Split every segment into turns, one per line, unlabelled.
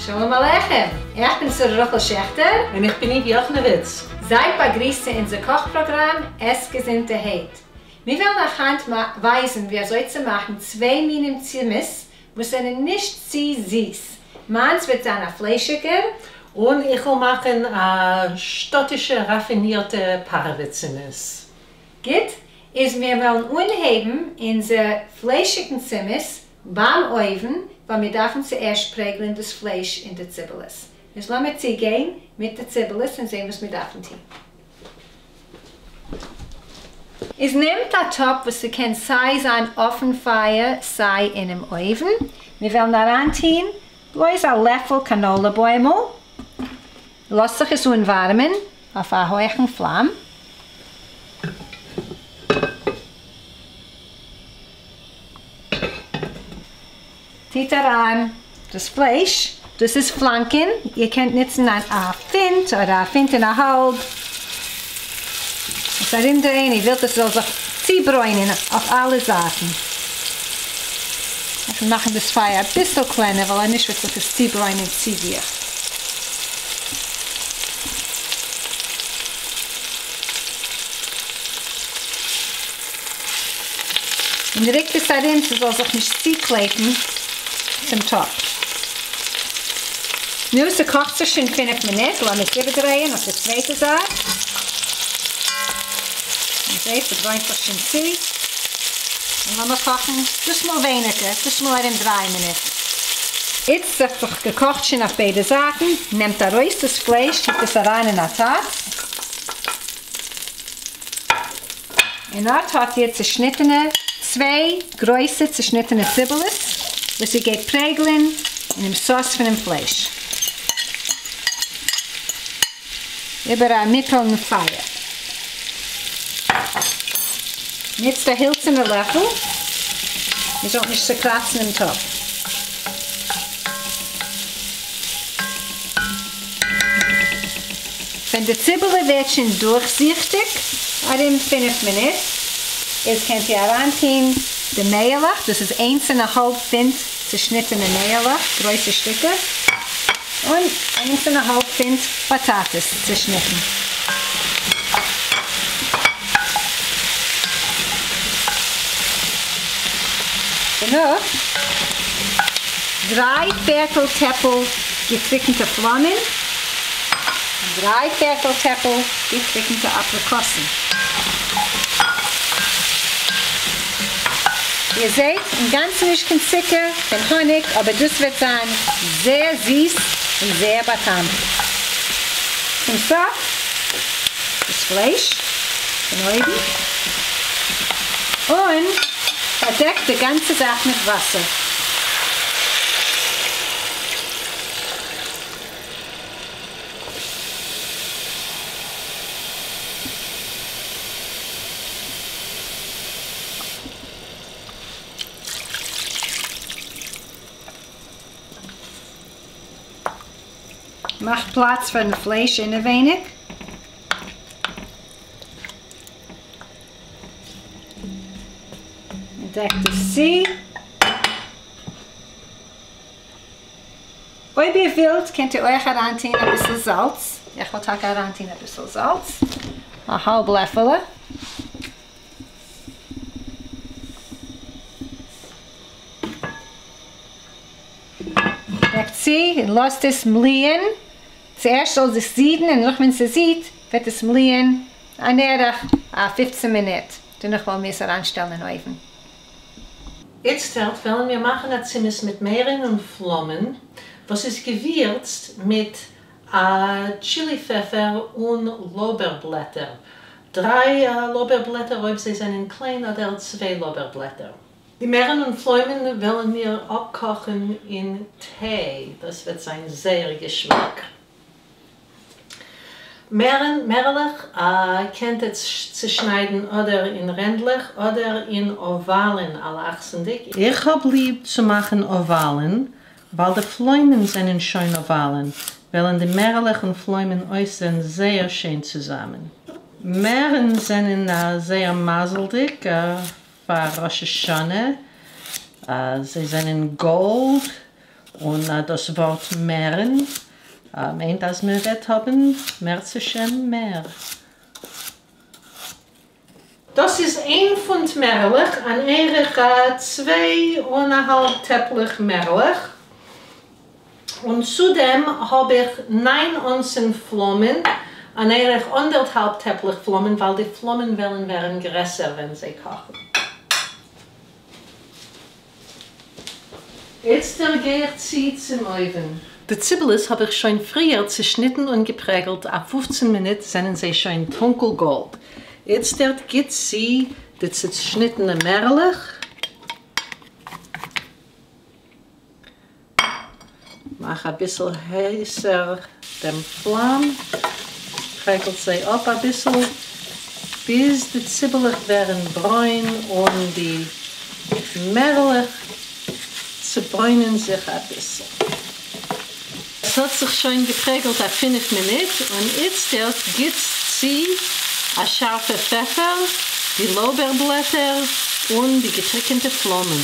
שלום עליכם! איך בין שרה רחל שעכטער.
און איך בין איוו יאכנעוויץ.
זייט באגריסט צו אונזער קאך פראגראם עס געזונטערהייט. מיר וועלן אייך היינט ווייזן ווי אזוי צו מאכן צוויי מינים צימעס וואס זענען נישט צו זיס. מיינס וועט זיין א פליישיגער.
און איך וועל מאכן א שטאטישע ראפינירטע פארעווע צימעס.
גוט, איז מיר וועלן אנהייבן אונזער פליישיגן צימעס ביים אויוון, ווייל מיר דארפן צוערשט פרעגלען דאס פלייש אין די ציבעלעס. איז לאמיר צוגיין מיט די ציבעלעס און זען וואס מיר דארפן טון. איז נעמט א טאפ וואס ס'קען סיי זיין אויפן פייער סיי אינעם אויוון, מיר וועלן אריינטוהן בלויז א לעפל קאנאלע בוימל, לאזט זיך עס אנווארעמען אויף א הויכן פלאם. טוט אריין דאס פלייש, דאס איז פלאנקען, איר קענט נוצן א פונט אדער א פונט און א האלב, עס ארומדרייען, איר ווילט עס זאל זיך צוברוינען אויף אלע זייטן. איך וועל מאכן דאס פייער אביסל קלענער ווייל אנישט וועט זיך עס צוברוינען צו גיך. און ריקט עס ארום ס'זאל זיך נישט צוקלעפן צום טאפ. נו, ס'קאכט זיך שוין פינף מינוט, לאמיר עס איבערדרייען אויף די צווייטע זייט. און זעט, ס'ברוינט זיך שוין צו. און לאמיר קאכן דאס מאל ווייניגער, דאס מאל ארום דריי מינוט. איצט ס'האט זיך געקאכט שוין אויף ביידע זייטן, נעמט ארויס דאס פלייש, טוט עס אריין אין א טאץ. און אט האט איר צעשניטענע צוויי גרויסע צעשניטענע ציבעלעס וואס איר גייט פרעגלען אינעם סאוס פונעם פלייש איבער א מיטעלן פייער. נוצט א הילצערנע לעפל איר זאלט נישט צעקראצן דעם טאפ. ווען די ציבעלע ווערט שוין דורכזיכטיג, ארום פינף מינוט, איז קענט איר אריינטוהן די מעהלעך, דאס איז איינס און א האלב פונט צושניטענע מעהלעך, גרויסע שטיקער, און איינס און א האלב פונט באטאטעס צושניטן. דערנאך דריי פערטל טעפל געטריקנטע פלאמען און דריי פערטל טעפל געטריקנטע אפריקאסן. איר זעט, אינגאנצן נישט קיין צוקער, קיין האניג, אבער דאס וועט זיין זייער זיס און זייער בא'טעמ'ט. צום סוף דאס פלייש פון אויבן און פארדעקט די גאנצע זאך מיט וואסער. מאכט פלאץ פארן פלייש אינעווייניג. דעקט עס צו. אויב איר ווילט קענט איר אויך אריינטוהן אביסל זאלץ, איך וועל טאקע אריינטוהן אביסל זאלץ, א האלב לעפעלע. דעקט צו און לאזט עס מליען, צוערשט זאל עס זידן און נאך ווען ס'זידט וועט עס מליען אן ערך א פופצן מינוט, דערנאך וועלן מיר עס אריינשטעלן אין אויוון.
איצטערט וועלן מיר מאכן א צימעס מיט מערן און פלאמען וואס איז געווירצט מיט א טשילי פעפער און לארבער בלעטער, דריי לארבער בלעטער אויב זיי זענען קליין אדער צוויי לארבער בלעטער. די מערן און פלוימען וועלן מיר אפקאכן אין טיי, דאס וועט זיין זייער געשמאק. מערן, מערעלעך, קענט עטס צושניידן אדער אין רענדלעך אדער אין אוואלן אלכסונ'דיג. איך האב ליב צו מאכן אוואלן, ווייל די פלוימען זענען שוין אוואלן, וועלן די מערעלעך און פלוימען אויסזען זייער שיין צוזאמען. מערן זענען זייער מזל'דיג פאר ראש השנה, זיי זענען גאלד. און דאס ווארט מערן מיינט אז מען וועט האבן מערצעשעם מער. דאס איז איין פונט מערעלעך, אן ערך 2½ טעפלעך מערעלעך, און צו דעם האב איך 9 אונסן פלאמען, אן ערך 1½ טעפלעך פלאמען, ווייל די פלאמען וועלן ווערן גרעסער ווען זיי קאכן. איצטער גיי איך צו צום אויוון. די ציבעלעס האב איך שוין פריער צעשניטן און געפרעגלט א 15 מינוט זענען זיי שוין טונקל גאלד. איצטערט גיט צו די צעשניטענע מערעלעך. מאך אביסל הייסער דעם פלאם, פרעגלט זיי אפ אביסל ביז די ציבעלעך ווערן ברוין און די מערעלעך צעברוינען זיך אביסל. עס האט זיך שוין געפרעגלט א 5 מינוט און איצטערט גיט צו א שארפע פעפער, די לארבער בלעטער און די געטריקענטע פלאמען.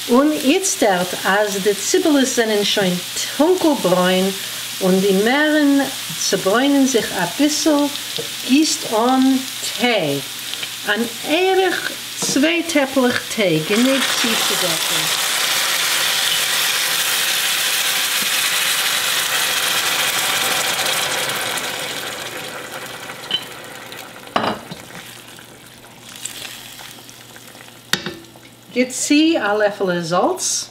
און איצטערט אז די ציבעלעס זענען שוין טונקל ברוין און די מערן צעברוינען זיך אביסל, גיסט אן טיי, אן ערך 2 טעפלעך טיי, גענוג צוצודעקן. גיט צו א לעפעלע זאלץ.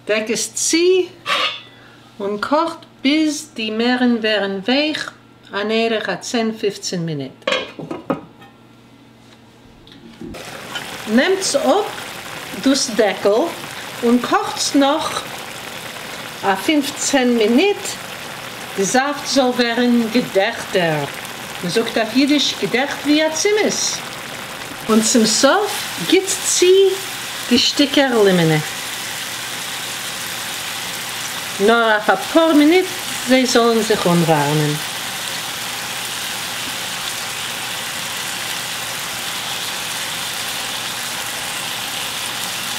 דעק עס צו און קאכט ביז די מערן ווערן ווייך, אן ערך א 10-15 מינוט. נעמטס אפ דאס דעקל און קאכטס נאך א 15 מינוט, די זאפט זאל ווערן געדעכטער. מען זאגט אויף אידיש געדעכט ווי א צימעס. און צום סוף גיט צו די שטיקער לימענע. נאר אויף א פאר מינוט זיי זאלן זיך אנווארעמען.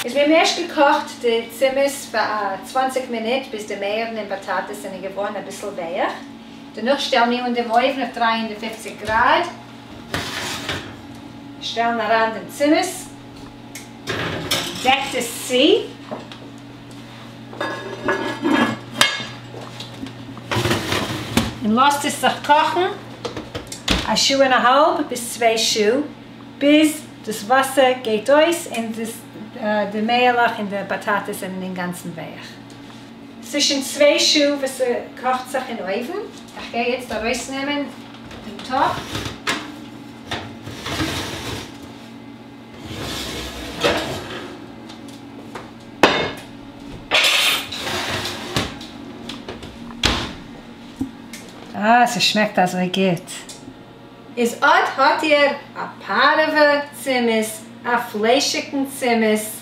איז מיר האבן ערשט געקאכט די צימעס פאר א 20 מינוט ביז די מערן און באטאטעס זענען געווארן אביסל ווייך. דערנאך שטעלן מיר אן דעם אויוון אויף 350 גראד. שטעלן אריין דעם צימעס. דעקט עס צו. און לאזט עס זיך קאכן א שעה און א האלב ביז 2 שעה, ביז דאס וואסער גייט אויס און די מעהלעך און די באטאטעס זענען אינגאנצן ווייך. ס'איז שוין 2 שעה וואס ס'קאכט זיך אין אויוון. איך גיי יעצט ארויסנעמען דעם טאפ. אה, ס'שמעקט אזוי גוט. איז אט האט איר א פארעווע צימעס, א פליישיגן צימעס,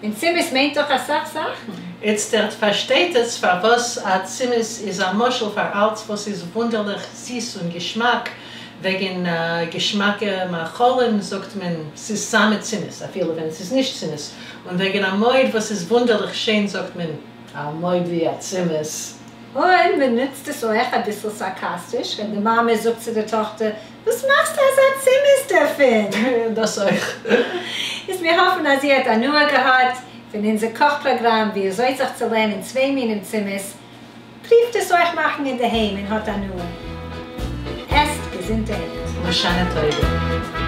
און צימעס מיינט דאך אסאך זאכן.
איצטערט פארשטייט עס פארוואס א צימעס איז א משל פאר אלץ וואס איז וואונדערליך זיס און געשמאק. וועגן געשמאקע מאכלים זאגט מען ס'איז סאמע צימעס, אפילו ווען ס'איז נישט צימעס. און וועגן א מויד וואס איז וואונדערליך שיין זאגט מען א מויד ווי א צימעס.
און מען נוצט עס אויך אביסל סארקאסטיש ווען די מאמע זאגט צו דער טאכטער, וואס מאכסטו אזא צימעס דערפון?
דאס אויך.
איז מיר האפן אז איר האט הנאה געהאט פון אונזער קאך פראגראם ווי אזוי זיך צו לערנען צוויי מינים צימעס. פרואווט עס אויך מאכן אינדערהיים און האט הנאה. עסט געזונטערהייט.
לשנה טובה.